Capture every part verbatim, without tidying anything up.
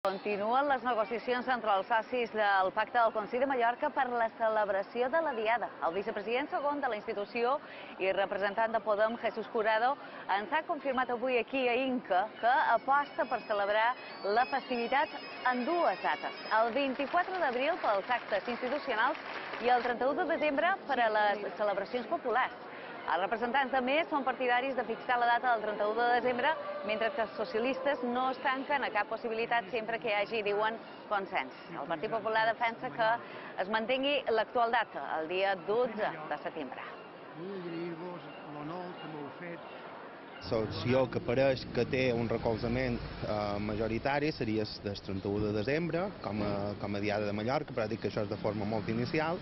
Continuen les negociacions entre els socis del Pacte del Consell de Mallorca per la celebració de la Diada. El vicepresident segon de la institució i representant de Podem, Jesús Curado, ens ha confirmat avui aquí a Inca que aposta per celebrar la festivitat en dues dates. El vint-i-quatre d'abril pels actes institucionals i el trenta-u de desembre per a les celebracions populars. Els representants de Més són partidaris de fixar la data del trenta-u de desembre, mentre que els socialistes no es tanquen a cap possibilitat sempre que hi hagi, diuen, consens. El Partit Popular defensa que es mantengui l'actual data, el dia dotze de setembre. Vull agrair-vos l'honor que m'heu fet. L'opció que pareix que té un recolzament eh, majoritari seria el trenta-u de desembre, com a, com a Diada de Mallorca, però dic que això és de forma molt inicial,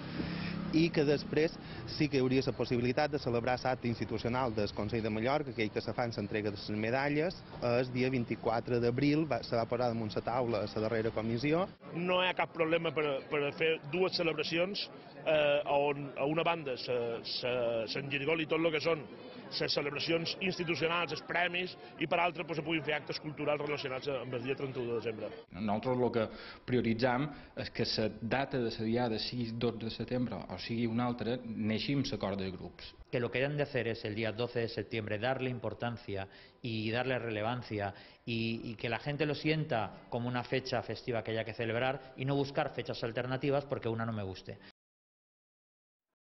i que després sí que hi hauria la possibilitat de celebrar l'acte institucional del Consell de Mallorca, aquell que se fa en l'entrega de les medalles, el dia vint-i-quatre d'abril, se va posar damunt la taula a la darrera comissió. No hi ha cap problema per, per fer dues celebracions eh, on a una banda s'engirgoli tot el que són les celebracions institucionals, els premis, i per altra pues, se puguin fer actes culturals relacionats amb el dia trenta-u de desembre. Nosaltres el que prioritzam és que la data de la Diada sigui dotze de setembre o sigui una altra, neixi amb l'acord de grups. Que lo que han de hacer es el día doce de septiembre darle importancia y darle relevancia y, y que la gente lo sienta como una fecha festiva que haya que celebrar y no buscar fechas alternativas porque una no me guste.